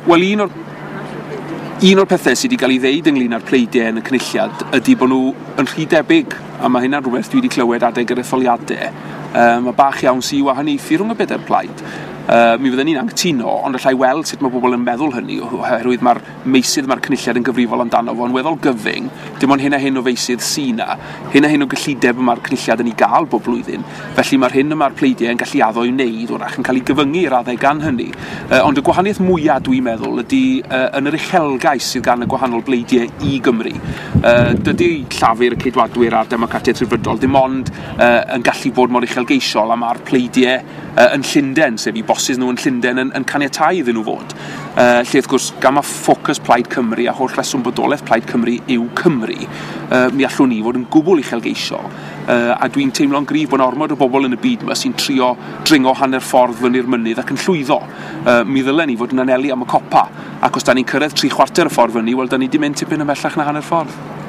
Wel, un o'r un o'r pethau sydd wedi cael ei ddeud ynglyn â'r pleidiau yn y Cynulliad ydy bod nhw yn rhy debyg, a mae hynna'n rhywbeth dwi wedi clywed adeg yr etholiadau. Mae bach iawn sy'n wahaniaethu rhwng y bedair plaid. Mi fydden ni'n anghytuno, ond allai weld sut mae bobl yn meddwl hynny, oherwydd mae'r meysydd mae'r Cynulliad yn gyfrifol amdano fo'n weddol gyfyng, dim ond hyn a hyn o feysydd sy 'na, hyn a hyn o gyllideb y mae'r Cynulliad yn ei gael bob blwyddyn, felly mae'r hyn y mae'r pleidiau yn gallu addo i wneud wrach yn cael ei gyfyngu i raddau gan hynny. Ond y gwahaniaeth mwyaf dwi'n meddwl ydy yn yr uchelgais sydd gan y gwahanol bleidiau i Gymru. Dydy Llafur, y Ceidwadwyr a'r Democratiaid Rhyddfrydol dim ond yn gallu bod mor uchelgeisiol a mae'r pleidiau yn Llundain, sef i bosses nhw yn Llundain yn caniatáu iddyn nhw fod. Lle wrth gwrs, gan mae ffocws Plaid Cymru a holl reswm bodolaeth Plaid Cymru yw Cymru, mi allwn ni fod yn gwbl uchelgeisiol. A dwi'n teimlo'n gryf bod 'na ormod o bobl yn y byd yma sy'n trio dringo hanner ffordd fyny'r mynydd ac yn llwyddo. Mi ddylen ni fod yn anelu am y copa, ac os da ni'n cyrraedd 3/4 y ffordd fyny, wel, da ni 'di mynd tipyn ymhellach na hanner ffordd.